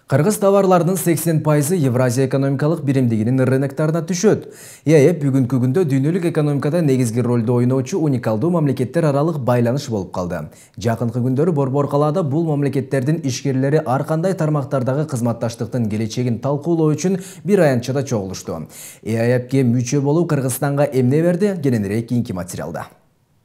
Кыргыз товарларынын 80% Евразия экономикалык биримдигинин рыноктарына түшөт. ЕАЭП бүгүнкү күндө дүйнөлүк экономикада негизги ролду ойноочу уникалдуу мамлекеттер аралык байланыш болуп калды. Жакынкы күндөрү Борбор калаада бул мамлекеттердин ишкерлери ар кандай тармактардагы кызматташтыктын келечегин талкуулоо үчүн бир аянтчада чогулушту. ЕАЭПке мүчө болуу Кыргызстанга эмне берди? Кененирээк кийинки материалда.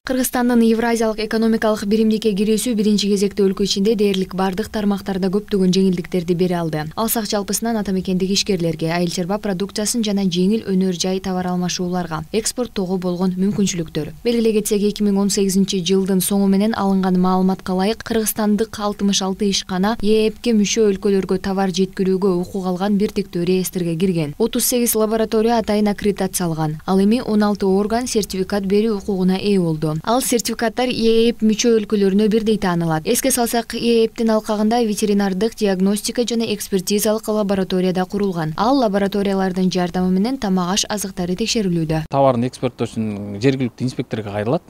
Кыргызстандын Евразиялык экономикалык биримдикке кирүүсү биринчи кезекте өлкө ичинде дээрлик бардык тармактарда көптөгөн жеңилдиктерди бере алды. Алсак жалпысынан ата мекендик ишкерлерге, айыл чарба продукциясын жана жеңил өнөр жай товар алмашууларга экспорттоого болгон мүмкүнчүлүктөр. Белгилей кетсек, 2018-жылдын соңу менен алынган маалыматка ылайык Кыргызстандык 66 ишкана ЕАЭПке мүчө өлкөлөргө товар жеткирүүгө укук алган бир тектөө реестрге кирген. 38 лаборатория атайын аккредитация алган. Ал эми 16 орган сертификат берүү укугуна ээ болду. Ал сертификаттар ЕАЭП мүчө өлкөлөрүнө бирдей таанылат. Эске салсак, ЕАЭПтин алкагында ветеринардык, диагностика жана экспертизалык лабораторияда курулган. Ал лабораториялардын жардамы менен тамак-аш азыктары текшерилүүдө. Товарын экспорттоо үчүн жергиликтүү инспекторго кайрылат.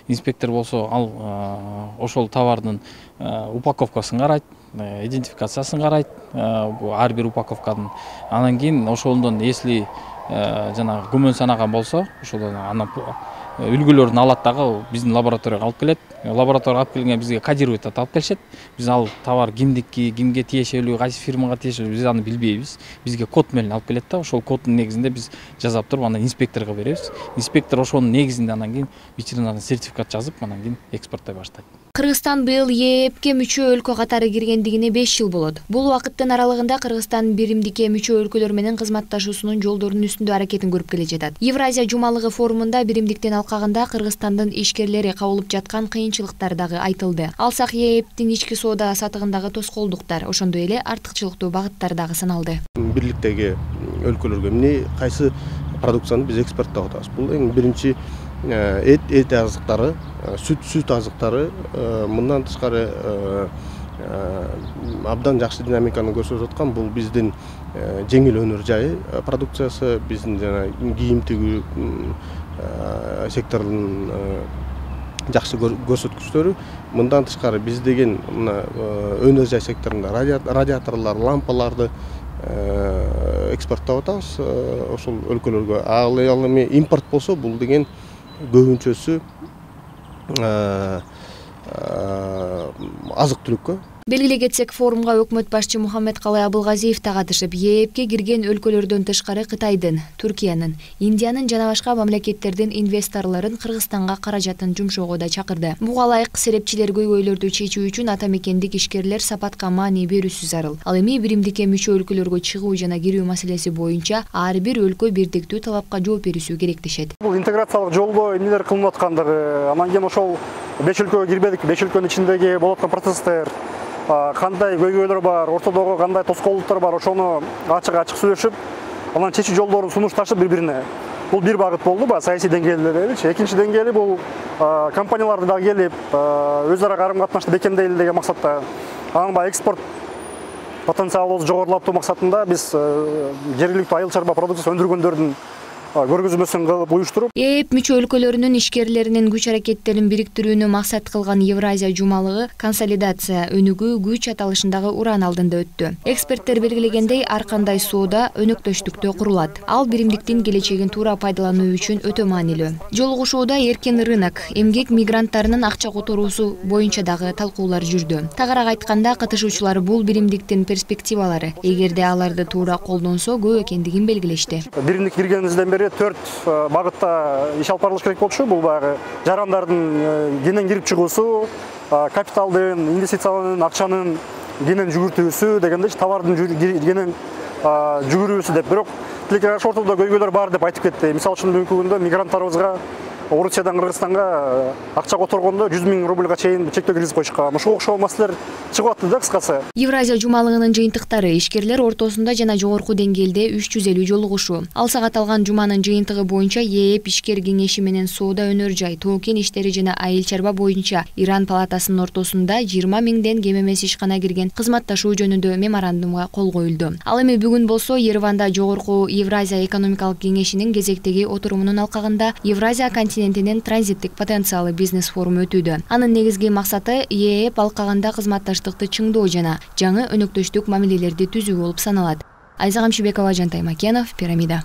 Инспектор болсо ал ошол товардын упаковкасын карайт, идентификациясын карайт, ар бир упаковканын. Анан кийин ошондон если жана күмөн санаган болсо, ошол анан үлгүлөрүн алат дагы биздин лабораторияга алып келет. Лабораторияга алып келгенде бизге кодировать алып келишет. Биз ал товар кимдики, кимге тиешелүү, кайсы фирмага тиешелүү биз аны билбейбиз. Бизге код менен алып келет да, ошол коддун негизинде биз жазап туруп анан инспекторго беребиз. Инспектор ошонун негизинде анан кийин ветеринарный сертификат жазып, анан кийин экспорттой баштайт. Кыргызстан быйыл ЕАЭПке мүчө өлкө катары киргендигине 5 жыл болот. Бул убакыттын аралыгында Кыргызстан биримдикке мүчө өлкөлөр менен кызматташуусунун жолдорунун үстүндө аракетин көрүп келе жатат. Евразия жумалыгы форумунда биримдиктин алкагында Кыргызстандын ишкерлери кабылып жаткан кыйынчылыктар дагы айтылды. Алсак, ЕАЭПтин ички соода сатыгындагы тоскоолдуктар, ошондой эле артыкчылыктуу багыттар дагы саналды. Бирликтеги өлкөлөргө эмне кайсы продукцияны биз экспорттоп атабыз? Бул эң биринчи эт азыктары, сүт азыктары. Мындан тышкары абдан жакшы динамиканы көрсөтүп аткан бул биздин жеңил өнөр жай продукциясы, биздин жана кийим тигүү секторунун жакшы көрсөткүчтөрү. Мындан тышкары биз деген мына өнөр жай секторунда радиаторлор, лампаларды экспорттоп атабыз ошол өлкөлөргө. Ал эми импорт болсо бул деген көбүнчөсү азык-түлүккө. Белгилей кетсек, форумга өкмөт башчы Мухаммедкалый Абылгазиев да катышып, ЕАЭПке кирген өлкөлөрдөн тышкары Кытайдын, Түркиянын, Индиянын жана башка мамлекеттердин инвесторлорун Кыргызстанга каражатын жумшоого да чакырды. Буга ылайык серепчилер көйгөйлөрдү чечүү үчүн ата мекендик ишкерлер сапатка маани берүүсү зарыл. Ал эми биримдикке мүчө өлкөлөргө чыгуу жана кирүү маселеси боюнча ар бир өлкө бирдиктүү талапка жооп берүүсү керек дешет. Бул интеграциялык жолдо эмнелер кылынып аткандыгы, анан кийин ошол 5 өлкөгө кирбедик, 5 өлкөнүн ичиндеги болуп аткан процесстер, кандай көйгөйлөр бар, ортодогу кандай тоскоолдуктар бар, ошону ачык сөйлөшүп, анан чечүү жолдорун сунушташып бири-бирине. Бул бир багыт болду, саясий деңгээлдеби. Экинчи деңгээли бул компанияларды дагы келип, өз ара карым-катнашты бекемдейли деген максатта. Анан экспорт потенциалыбызды жогорулатуу максатында биз жергиликтүү айыл чарба продукциясы өндүргөндөрдүн көргөзмөсүн кылып уюштуруп, ЕАЭП мүчө өлкөлөрүнүн ишкерлеринин күч аракеттерин бириктирүүнү максат кылган Евразия жумалыгы консолидация өнүгүү күч аталышындагы уран алдында өттү. Эксперттер белгилегендей, ар кандай соода өнөктөштүктө курулат. Ал биримдиктин келечегин туура пайдалануу үчүн өтө маанилүү. Жолугушууда эркин рынок, эмгек мигранттарынын акча которуусу боюнча дагы талкуулар жүрдү. Тагыраак айтканда, катышуучулар бул биримдиктин перспективалары, эгерде аларды туура колдонсо, көп экендигин белгилешти. Биримдик киргенибизден 4 багытта иш алып барылыш керек болчу. Бул баягы жарандардын кенен кирип чыгуусу, капиталдын, инвестициянын, акчанын кенен жүгүртүүсү дегенде товардын кенен жүгүрүүсү деп. Бирок тилекке каршы ортодо көйгөйлөр бар деп айтып кетти. Мисалы үчүн бүгүнкү күндө мигранттарыбызга Орусиядан Кыргызстанга акча которгондо 100 000 рубльга чейин чектөө киргизип коюшкан. Ушуга окшогон маселелер чыгып атты да кыскасы. Евразия жумалыгынын жыйынтыктары ишкерлер ортосунда жана жогорку деңгээлде 350 жолугушуу. Алсак аталган жуманын жыйынтыгы боюнча ЕАЭП ишкер кеңеши менен соода өнөр жай, тоо-кен иштери жана айыл чарба боюнча Иран палатасынын ортосунда 20 000ден кем эмес ишкана кирген кызматташуу жөнүндө меморандумга кол коюлду. Ал эми бүгүн болсо Ереванда жогорку Евразия экономикалык кеңешинин кезектеги отурумунун алкагында Евразия континент президентинин транзиттик потенциалы бизнес форуму өтүүдө. Анын негизги максаты ЕЭ алкаганда кызматташтыкты чыңдоо жана жаңы өнөктөштүк мамилелерди түзүү болуп саналат. Айза Камшыбекова, Жантай Макенов, Пирамида.